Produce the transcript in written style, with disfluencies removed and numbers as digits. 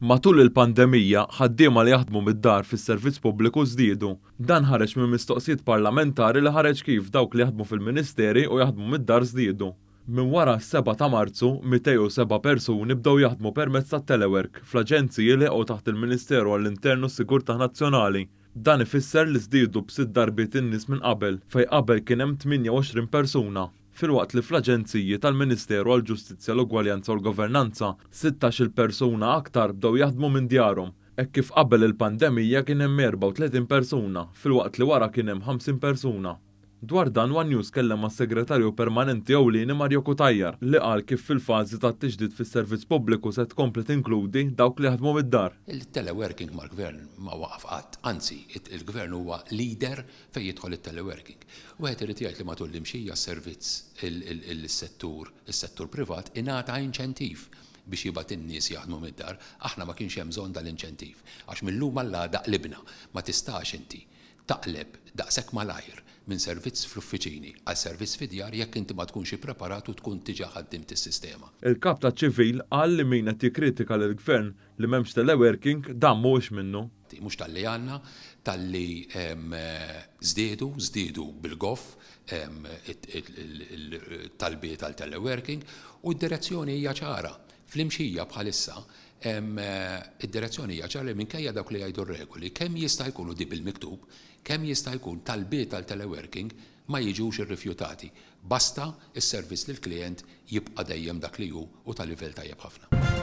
Matul il-pandemija, ħaddiema li jaħdmu mid-dar fis-servizz pubbliku żdiedu. Dan ħareġ minn mistoqsijiet parlamentari li ħareġ kif dawk li jaħdmu fil-ministeri u jaħdmu mid-dar żdiedu. Minn wara s-sebgħa ta' Marzu, 207 persuni bdew jaħdmu permezz tat-telework fl-aġenziji li jaqgħu taħt il-Ministeru għall-Intern u s-Sigurtà Nazzjonali. Dan ifisser li żdiedu b'sitt darbiet in-nies minn qabel, fejn qabel kien hemm 28 persuna, filwaqt li fl-aġenziji tal-Ministeru għall-Ġustizzja, l-Ugwaljanza u l-Governanza, sittax-il persuna aktar bdew jaħdmu minn djarhom, hekk kif qabel il-pandemija kien hemm 34 persuna, filwaqt li wara kien hemm 50 persuna. Dwar dan one News kellem mas-Segretarju Permanenti Ewlieni Mario Cutajar li qal kif fil-fażi tat-tiġdid fis-servizz pubbliku se tkompli tinkludi dawk li jaħdmu mid-dar. Il-teleworking mal-Gvern ma waqaf qatt, anzi il-Gvern huwa leader fejn jidħol it-teleworking. Wieħed irid jgħid li matul l-imxija s-servizz is-settur is-settur privat ingħata inċentiv biex jibgħat in-nies jaħdmu mid-dar. Aħna ma kienx hemm bżonn dal-inċentiv għax mil-lum għall-għada qlibna. Ma tistax inti taqleb daqshekk malajr minn servizz fl-uffiċini għal servizz fid-djar jekk inti ma tkunx ippreparat u tkun diġà ħaddimt is-sistema. Il-Kap taċ-Ċivil qal li min qed jikkritika lill-Gvern li m'hemmx teleworking dan mhuwiex minnu. Mhux talli għandna, talli żdiedu, żdiedu bil-goff it-talbiet għal teleworking u d-direzzjoni hija ċara. Fl-imxija bħalissa Id-direzzjoni hija ċara li minkejja dawk li jgħidu r-regoli, kemm jista' jkun, u di bil-miktub, kemm jista' jkun talbiet għal teleworking ma jiġux irrifjutati, basta s-servizz lill-klijent jibqa' dejjem dak li hu u ta' livell tajjeb ħafna.